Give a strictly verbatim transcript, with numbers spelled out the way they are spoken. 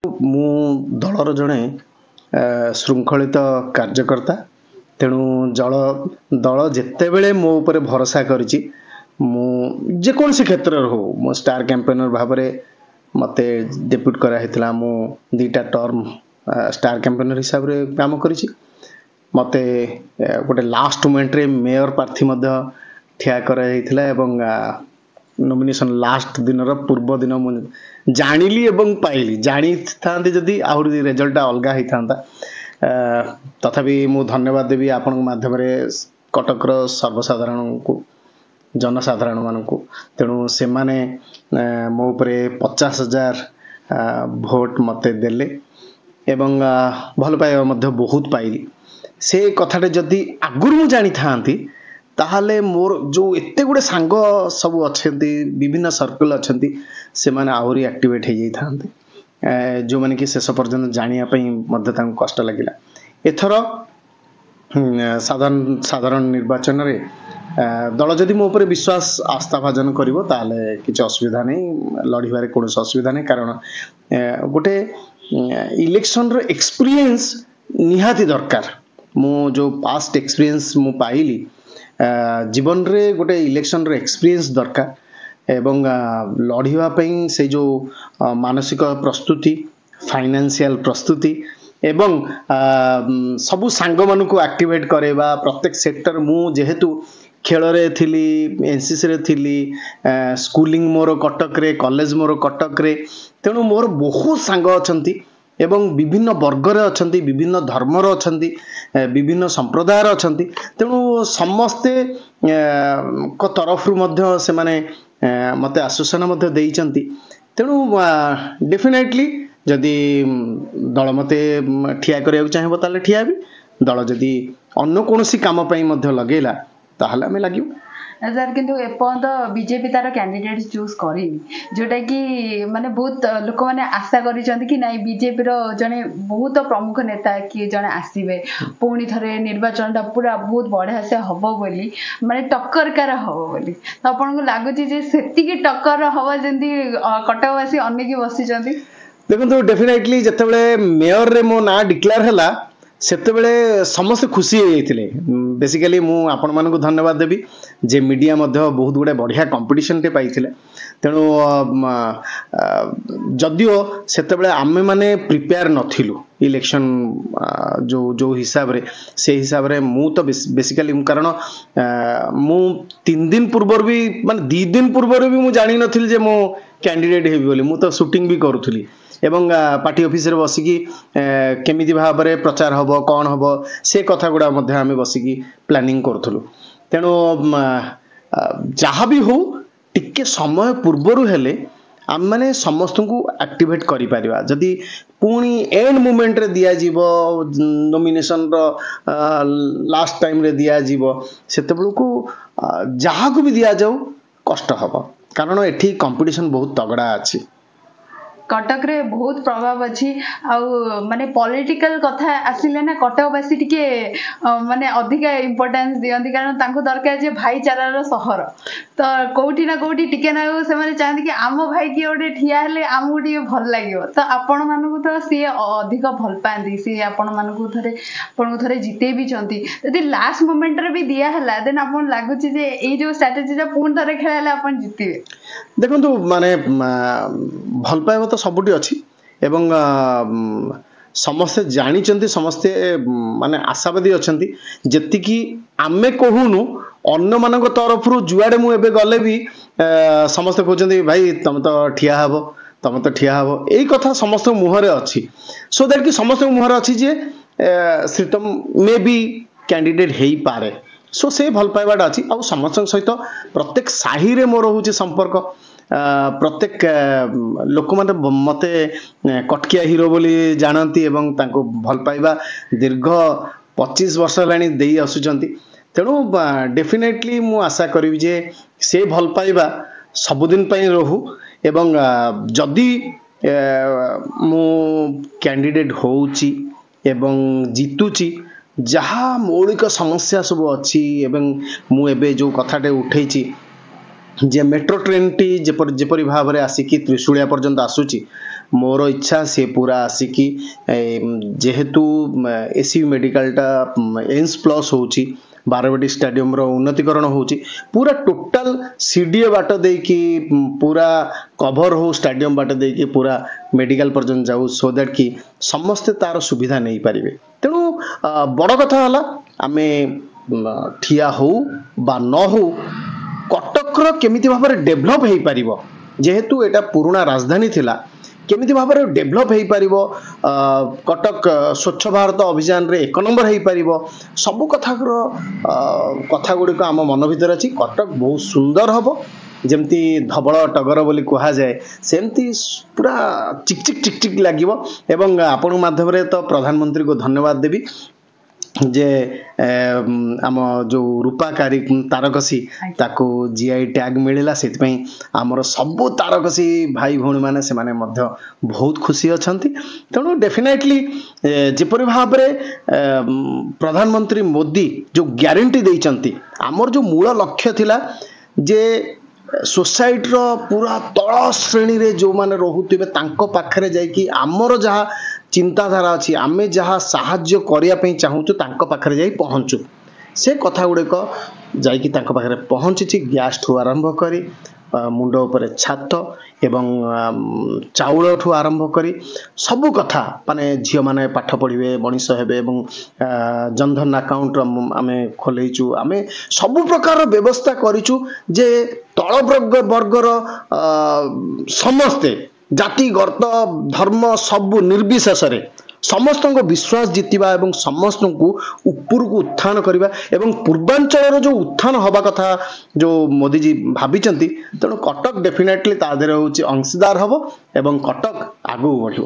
ମୁଁ ଦଳର ଜଣେ ଶୃଙ୍ଖଳିତ କାର୍ଯ୍ୟକର୍ତ୍ତା, ତେଣୁ ଜଳ ଦଳ ଯେତେବେଳେ ମୋ ଉପରେ ଭରସା କରିଛି, ମୁଁ ଯେକୌଣସି କ୍ଷେତ୍ରରେ ହଉ, ମୁଁ ଷ୍ଟାର କ୍ୟାମ୍ପେନର ଭାବରେ ମୋତେ ଡେପ୍ୟୁଟ୍ କରାହେଇଥିଲା। ମୁଁ ଦୁଇଟା ଟର୍ମ ଷ୍ଟାର କ୍ୟାମ୍ପେନର ହିସାବରେ କାମ କରିଛି। ମୋତେ ଗୋଟେ ଲାଷ୍ଟ ମୋମେଣ୍ଟରେ ମେୟର ପ୍ରାର୍ଥୀ ମଧ୍ୟ ଠିଆ କରାଯାଇଥିଲା ଏବଂ ନୋମିନେସନ୍ ଲାଷ୍ଟ ଦିନର ପୂର୍ବ ଦିନ ମୁଁ ଜାଣିଲି ଏବଂ ପାଇଲି। ଜାଣିଥାନ୍ତି ଯଦି ଆହୁରି ରେଜଲ୍ଟଟା ଅଲଗା ହେଇଥାନ୍ତା। ତଥାପି ମୁଁ ଧନ୍ୟବାଦ ଦେବି ଆପଣଙ୍କ ମାଧ୍ୟମରେ କଟକର ସର୍ବସାଧାରଣଙ୍କୁ, ଜନସାଧାରଣମାନଙ୍କୁ। ତେଣୁ ସେମାନେ ମୋ ଉପରେ ପଚାଶ ହଜାର ଭୋଟ ମୋତେ ଦେଲେ ଏବଂ ଭଲ ପାଇବା ମଧ୍ୟ ବହୁତ ପାଇଲି। ସେ କଥାଟା ଯଦି ଆଗରୁ ମୁଁ ଜାଣିଥାନ୍ତି, ତାହେଲେ ମୋର ଯେଉଁ ଏତେ ଗୁଡ଼ିଏ ସାଙ୍ଗ ସବୁ ଅଛନ୍ତି, ବିଭିନ୍ନ ସର୍କଲ୍ ଅଛନ୍ତି, ସେମାନେ ଆହୁରି ଆକ୍ଟିଭେଟ୍ ହେଇଯାଇଥାନ୍ତେ, ଯେଉଁମାନେ କି ଶେଷ ପର୍ଯ୍ୟନ୍ତ ଜାଣିବା ପାଇଁ ମଧ୍ୟ ତାଙ୍କୁ କଷ୍ଟ ଲାଗିଲା। ଏଥର ସାଧାରଣ ସାଧାରଣ ନିର୍ବାଚନରେ ଦଳ ଯଦି ମୋ ଉପରେ ବିଶ୍ୱାସ ଆସ୍ଥାଭାଜନ କରିବ, ତାହେଲେ କିଛି ଅସୁବିଧା ନାହିଁ, ଲଢ଼ିବାରେ କୌଣସି ଅସୁବିଧା ନାହିଁ। କାରଣ ଗୋଟେ ଇଲେକ୍ସନର ଏକ୍ସପିରିଏନ୍ସ ନିହାତି ଦରକାର। ମୁଁ ଯେଉଁ ପାଷ୍ଟ ଏକ୍ସପିରିଏନ୍ସ ମୁଁ ପାଇଲି, ଜୀବନରେ ଗୋଟେ ଇଲେକ୍ସନର ଏକ୍ସପିରିଏନ୍ସ ଦରକାର ଏବଂ ଲଢ଼ିବା ପାଇଁ ସେ ଯେଉଁ ମାନସିକ ପ୍ରସ୍ତୁତି, ଫାଇନାନ୍ସିଆଲ ପ୍ରସ୍ତୁତି ଏବଂ ସବୁ ସାଙ୍ଗମାନଙ୍କୁ ଆକ୍ଟିଭେଟ୍ କରାଇବା ପ୍ରତ୍ୟେକ ସେକ୍ଟର। ମୁଁ ଯେହେତୁ ଖେଳରେ ଥିଲି, ଏନ୍ସିସିରେ ଥିଲି, ସ୍କୁଲିଂ ମୋର କଟକରେ, କଲେଜ ମୋର କଟକରେ, ତେଣୁ ମୋର ବହୁତ ସାଙ୍ଗ ଅଛନ୍ତି ଏବଂ ବିଭିନ୍ନ ବର୍ଗରେ ଅଛନ୍ତି, ବିଭିନ୍ନ ଧର୍ମର ଅଛନ୍ତି, ବିଭିନ୍ନ ସମ୍ପ୍ରଦାୟର ଅଛନ୍ତି। ତେଣୁ ସମସ୍ତେ ଙ୍କ ତରଫରୁ ମଧ୍ୟ ସେମାନେ ମୋତେ ଆଶ୍ୱାସନା ମଧ୍ୟ ଦେଇଛନ୍ତି। ତେଣୁ ଡେଫିନେଟଲି ଯଦି ଦଳ ମୋତେ ଠିଆ କରିବାକୁ ଚାହିଁବ, ତାହେଲେ ଠିଆ ହେବି। ଦଳ ଯଦି ଅନ୍ୟ କୌଣସି କାମ ପାଇଁ ମଧ୍ୟ ଲଗେଇଲା, ତାହେଲେ ଆମେ ଲାଗିବୁ। ସାର୍, କିନ୍ତୁ ଏପର୍ଯ୍ୟନ୍ତ ବିଜେପି ତାର କ୍ୟାଣ୍ଡିଡେଟ୍ ଚୁଜ୍ କରିନି, ଯୋଉଟାକି ମାନେ ବହୁତ ଲୋକମାନେ ଆଶା କରିଛନ୍ତି କି ନାଇଁ, ବିଜେପିର ଜଣେ ବହୁତ ପ୍ରମୁଖ ନେତା କିଏ ଜଣେ ଆସିବେ, ପୁଣି ଥରେ ନିର୍ବାଚନଟା ପୁରା ବହୁତ ବଢ଼ିଆ ସେ ହବ ବୋଲି, ମାନେ ଟକ୍କରକାର ହବ ବୋଲି। ତ ଆପଣଙ୍କୁ ଲାଗୁଛି ଯେ ସେତିକି ଟକ୍କର ହବ ଯେମିତି କଟକବାସୀ ଅନେଇକି ବସିଛନ୍ତି? ଦେଖନ୍ତୁ, ଡେଫିନେଟଲି ଯେତେବେଳେ ମେୟରରେ ମୋ ନାଁ ଡିକ୍ଲେୟାର ହେଲା, ସେତେବେଳେ ସମସ୍ତେ ଖୁସି ହେଇଯାଇଥିଲେ। ବେସିକାଲି ମୁଁ ଆପଣମାନଙ୍କୁ ଧନ୍ୟବାଦ ଦେବି ଯେ ମିଡ଼ିଆ ମଧ୍ୟ ବହୁତ ଗୁଡ଼ାଏ ବଢ଼ିଆ କମ୍ପିଟିସନଟେ ପାଇଥିଲେ। ତେଣୁ ଯଦିଓ ସେତେବେଳେ ଆମେମାନେ ପ୍ରିପେୟାର ନଥିଲୁ ଇଲେକ୍ସନ ଯେଉଁ ଯେଉଁ ହିସାବରେ, ସେଇ ହିସାବରେ ମୁଁ ତ ବେସିକାଲି, କାରଣ ମୁଁ ତିନି ଦିନ ପୂର୍ବରୁ ବି, ମାନେ ଦୁଇ ଦିନ ପୂର୍ବରୁ ବି ମୁଁ ଜାଣିନଥିଲି ଯେ ମୁଁ କ୍ୟାଣ୍ଡିଡେଟ୍ ହେବି ବୋଲି। ମୁଁ ତ ସୁଟିଂ ବି କରୁଥିଲି ଏବଂ ପାର୍ଟି ଅଫିସରେ ବସିକି କେମିତି ଭାବରେ ପ୍ରଚାର ହେବ, କ'ଣ ହେବ, ସେ କଥା ଗୁଡ଼ା ମଧ୍ୟ ଆମେ ବସିକି ପ୍ଲାନିଂ କରୁଥିଲୁ। ତେଣୁ ଯାହା ବି ହଉ, ଟିକେ ସମୟ ପୂର୍ବରୁ ହେଲେ ଆମେମାନେ ସମସ୍ତଙ୍କୁ ଆକ୍ଟିଭେଟ୍ କରିପାରିବା। ଯଦି ପୁଣି ଏଣ୍ଡ ମୁମେଣ୍ଟରେ ଦିଆଯିବ, ନୋମିନେସନର ଲାଷ୍ଟ ଟାଇମରେ ଦିଆଯିବ, ସେତେବେଳକୁ ଯାହାକୁ ବି ଦିଆଯାଉ କଷ୍ଟ ହେବ, କାରଣ ଏଠି କମ୍ପିଟିସନ ବହୁତ ତଗଡ଼ା ଅଛି। କଟକରେ ବହୁତ ପ୍ରଭାବ ଅଛି ଆଉ ମାନେ ପଲିଟିକାଲ କଥା ଆସିଲେ ନା କଟକବାସୀ ଟିକେ ମାନେ ଅଧିକା ଇମ୍ପୋର୍ଟାନ୍ସ ଦିଅନ୍ତି, କାରଣ ତାଙ୍କୁ ଦରକାର ଯେ ଭାଇଚାରାର ସହର। ତ କୋଉଠି ନା କୋଉଠି ଟିକେ ନା ସେମାନେ ଚାହାନ୍ତି କି ଆମ ଭାଇ କିଏ ଗୋଟେ ଠିଆ ହେଲେ ଆମକୁ ଟିକେ ଭଲ ଲାଗିବ। ତ ଆପଣମାନଙ୍କୁ ତ ସିଏ ଅଧିକ ଭଲ ପାଆନ୍ତି, ସିଏ ଆପଣମାନଙ୍କୁ ଥରେ ଆପଣଙ୍କୁ ଥରେ ଜିତେଇ ବି ଛନ୍ତି। ଯଦି ଲାଷ୍ଟ ମୋମେଣ୍ଟରେ ବି ଦିଆ ହେଲା, ଦେନ୍ ଆପଣ ଲାଗୁଛି ଯେ ଏଇ ଯୋଉ ଷ୍ଟ୍ରାଟେଜିଟା ପୁଣି ଥରେ ଖେଳା ହେଲେ ଆପଣ ଜିତିବେ? ଦେଖନ୍ତୁ, ମାନେ ଭଲ ପାଇବା ତ ସବୁଠି ଅଛି ଏବଂ ସମସ୍ତେ ଜାଣିଛନ୍ତି, ସମସ୍ତେ ମାନେ ଆଶାବାଦୀ ଅଛନ୍ତି। ଯେତିକି ଆମେ କହୁନୁ, ଅନ୍ୟମାନଙ୍କ ତରଫରୁ ଯୁଆଡ଼େ ମୁଁ ଏବେ ଗଲେ ବି ସମସ୍ତେ କହୁଛନ୍ତି, ଭାଇ ତମେ ତ ଠିଆ ହବ, ତମେ ତ ଠିଆ ହବ। ଏଇ କଥା ସମସ୍ତଙ୍କ ମୁହଁରେ ଅଛି, ସୋ that କି ସମସ୍ତଙ୍କ ମୁହଁରେ ଅଛି ଯେ ଶ୍ରୀତମ ମେ ବି କ୍ୟାଣ୍ଡିଡେଟ୍ ହେଇପାରେ। ସୋ ସେ ଭଲ ପାଇବାଟା ଅଛି ଆଉ ସମସ୍ତଙ୍କ ସହିତ ପ୍ରତ୍ୟେକ ସାହିରେ ମୋର ହେଉଛି ସମ୍ପର୍କ। ପ୍ରତ୍ୟେକ ଲୋକମାନେ ମୋତେ କଟକିଆ ହିରୋ ବୋଲି ଜାଣନ୍ତି ଏବଂ ତାଙ୍କୁ ଭଲ ପାଇବା ଦୀର୍ଘ ପଚିଶ ବର୍ଷ ହେଲାଣି ଦେଇ ଆସୁଛନ୍ତି। ତେଣୁ ଡେଫିନେଟଲି ମୁଁ ଆଶା କରିବି ଯେ ସେ ଭଲ ପାଇବା ସବୁଦିନ ପାଇଁ ରହୁ ଏବଂ ଯଦି ମୁଁ କ୍ୟାଣ୍ଡିଡେଟ୍ ହେଉଛି ଏବଂ ଜିତୁଛି, ଯାହା ମୌଳିକ ସମସ୍ୟା ସବୁ ଅଛି ଏବଂ ମୁଁ ଏବେ ଯେଉଁ କଥାଟେ ଉଠେଇଛି ଯେ ମେଟ୍ରୋ ଟ୍ରେନ୍ଟି ଯେପରି ଯେପରି ଭାବରେ ଆସିକି ତ୍ରିଶୁଳିଆ ପର୍ଯ୍ୟନ୍ତ ଆସୁଛି, ମୋର ଇଚ୍ଛା ସିଏ ପୁରା ଆସିକି ଏ, ଯେହେତୁ ଏସ୍ ସି ବି ମେଡ଼ିକାଲଟା ଏମ୍ସ ପ୍ଲସ୍ ହେଉଛି, ବାରବାଟୀ ଷ୍ଟାଡିୟମର ଉନ୍ନତିକରଣ ହେଉଛି, ପୁରା ଟୋଟାଲ ସି ଡି ଏ ବାଟ ଦେଇକି ଉଁ, ପୁରା କଭର ହଉ, ଷ୍ଟାଡିୟମ ବାଟ ଦେଇକି ପୁରା ମେଡ଼ିକାଲ ପର୍ଯ୍ୟନ୍ତ ଯାଉ, ସୋ that କି ସମସ୍ତେ ତାର ସୁବିଧା ନେଇପାରିବେ। ତେଣୁ ଅ, ବଡ଼ କଥା ହେଲା ଆମେ ଉଁ, ଠିଆ ହଉ ବା ନ ହଉ, କଟକର କେମିତି ଭାବରେ ଡେଭଲପ୍ ହେଇପାରିବ, ଯେହେତୁ ଏଇଟା ପୁରୁଣା ରାଜଧାନୀ ଥିଲା, କେମିତି ଭାବରେ ଡେଭଲପ୍ ହେଇପାରିବ, ଅ, କଟକ ସ୍ୱଚ୍ଛ ଭାରତ ଅଭିଯାନରେ ଏକ ନମ୍ବର ହେଇପାରିବ, ସବୁ କଥାର ଅ, କଥା ଗୁଡ଼ିକ ଆମ ମନ ଭିତରେ ଅଛି। କଟକ ବହୁତ ସୁନ୍ଦର ହବ, ଯେମିତି ଧବଳ ଟଗର ବୋଲି କୁହାଯାଏ, ସେମିତି ପୁରା ଚିକ୍ ଚିକ୍ ଚିକ୍ ଚିକ୍ ଲାଗିବ। ଏବଂ ଆପଣଙ୍କ ମାଧ୍ୟମରେ ତ ପ୍ରଧାନମନ୍ତ୍ରୀଙ୍କୁ ଧନ୍ୟବାଦ ଦେବି ଯେ ଏ, ଆମ ଯୋଉ ରୂପା କାରି ତାରକସି ତାକୁ ଜି I tag ମିଳିଲା। ସେଥିପାଇଁ ଆମର ସବୁ ତାରକସି ଭାଇ ଭଉଣୀମାନେ ସେମାନେ ମଧ୍ୟ ବହୁତ ଖୁସି ଅଛନ୍ତି। ତେଣୁ ଡେଫିନେଟଲି ଯେପରି ଭାବରେ ଏ, ପ୍ରଧାନମନ୍ତ୍ରୀ ମୋଦି ଯୋଉ ଗ୍ୟାରେଣ୍ଟି ଦେଇଛନ୍ତି, ଆମର ଯୋଉ ମୂଳ ଲକ୍ଷ୍ୟ ଥିଲା ଯେ ସୋସାଇଟିର ପୁରା ତଳ ଶ୍ରେଣୀରେ ଯେଉଁମାନେ ରହୁଥିବେ ତାଙ୍କ ପାଖରେ ଯାଇକି ଆମର ଯାହା ଚିନ୍ତାଧାରା ଅଛି, ଆମେ ଯାହା ସାହାଯ୍ୟ କରିବା ପାଇଁ ଚାହୁଁଛୁ, ତାଙ୍କ ପାଖରେ ଯାଇ ପହଞ୍ଚୁ, ସେ କଥା ଗୁଡ଼ିକ ଯାଇକି ତାଙ୍କ ପାଖରେ ପହଞ୍ଚିଛି। ଗ୍ୟାସ୍ଠୁ ଆରମ୍ଭ କରି ଅ, ମୁଣ୍ଡ ଉପରେ ଛାତ ଏବଂ ଆମ୍, ଚାଉଳଠୁ ଆରମ୍ଭ କରି ସବୁ କଥା, ମାନେ ଝିଅମାନେ ପାଠ ପଢ଼ିବେ, ମଣିଷ ହେବେ ଏବଂ ଆ, ଜନଧନ ଆକାଉଣ୍ଟ ଆମେ ଖୋଲେଇଛୁ। ଆମେ ସବୁ ପ୍ରକାରର ବ୍ୟବସ୍ଥା କରିଛୁ ଯେ ତଳ ବର୍ଗ ବର୍ଗର ଅ, ସମସ୍ତେ ଜାତି, ଗର୍ତ୍ତ, ଧର୍ମ ସବୁ ନିର୍ବିଶେଷରେ ସମସ୍ତଙ୍କ ବିଶ୍ୱାସ ଜିତିବା ଏବଂ ସମସ୍ତଙ୍କୁ ଉପରକୁ ଉତ୍ଥାନ କରିବା ଏବଂ ପୂର୍ବାଞ୍ଚଳର ଯୋଉ ଉତ୍ଥାନ ହବା କଥା ଯୋଉ ମୋଦିଜୀ ଭାବିଛନ୍ତି, ତେଣୁ କଟକ ଡେଫିନେଟଲି ତା ଦେହରେ ହେଉଛି ଅଂଶୀଦାର ହବ ଏବଂ କଟକ ଆଗକୁ ବଢ଼ିବ।